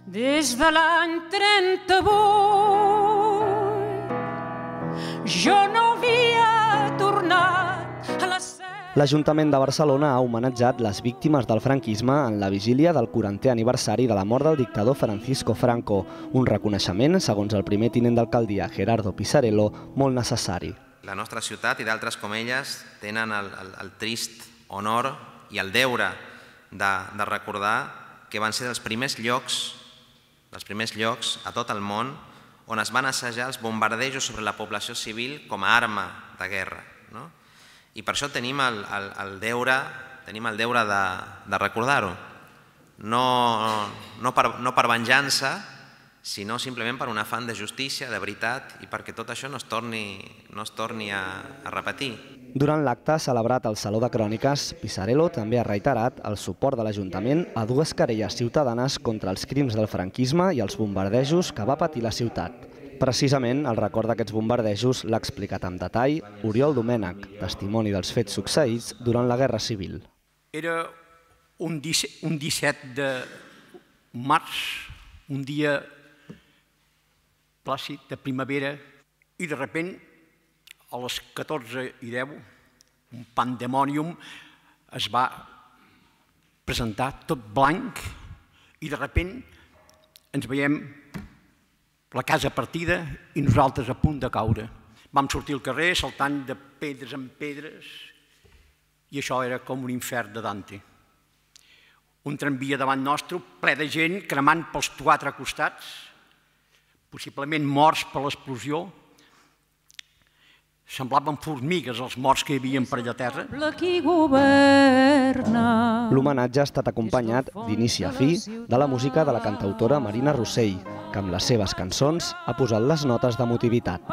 Des de l'any 38 jo no havia tornat a la seu. L'Ajuntament de Barcelona ha homenatjat les víctimes del franquisme en la vigília del 40è aniversari de la mort del dictador Francisco Franco, un reconeixement, segons el primer tinent d'alcaldia Gerardo Pisarello, molt necessari. La nostra ciutat i d'altres com elles tenen el trist honor i el deure de recordar que van ser els primers llocs a tot el món on es van assajar els bombardejos sobre la població civil com a arma de guerra. I per això tenim el deure de recordar-ho. No per venjança, sinó simplement per un afany de justícia, de veritat, i perquè tot això no es torni a repetir. Durant l'acte celebrat al Saló de Cròniques, Pisarello també ha reiterat el suport de l'Ajuntament a dues querelles ciutadanes contra els crims del franquisme i els bombardejos que va patir la ciutat. Precisament, el record d'aquests bombardejos l'ha explicat amb detall Oriol Domènech, testimoni dels fets succeïts durant la Guerra Civil. Era un 17 de març, un dia plàcid de primavera, i de sobte, a les 14:10, un pandemònium es va presentar tot blanc i de sobte ens veiem la casa partida i nosaltres a punt de caure. Vam sortir al carrer saltant de pedres en pedres i això era com un infern de Dante. Un tramvia davant nostre ple de gent cremant pels quatre costats, possiblement morts per l'explosió. Semblaven formigues els morts que hi havia per allà a terra. L'homenatge ha estat acompanyat d'inici a fi de la música de la cantautora Marina Rossell, que amb les seves cançons ha posat les notes d'emotivitat.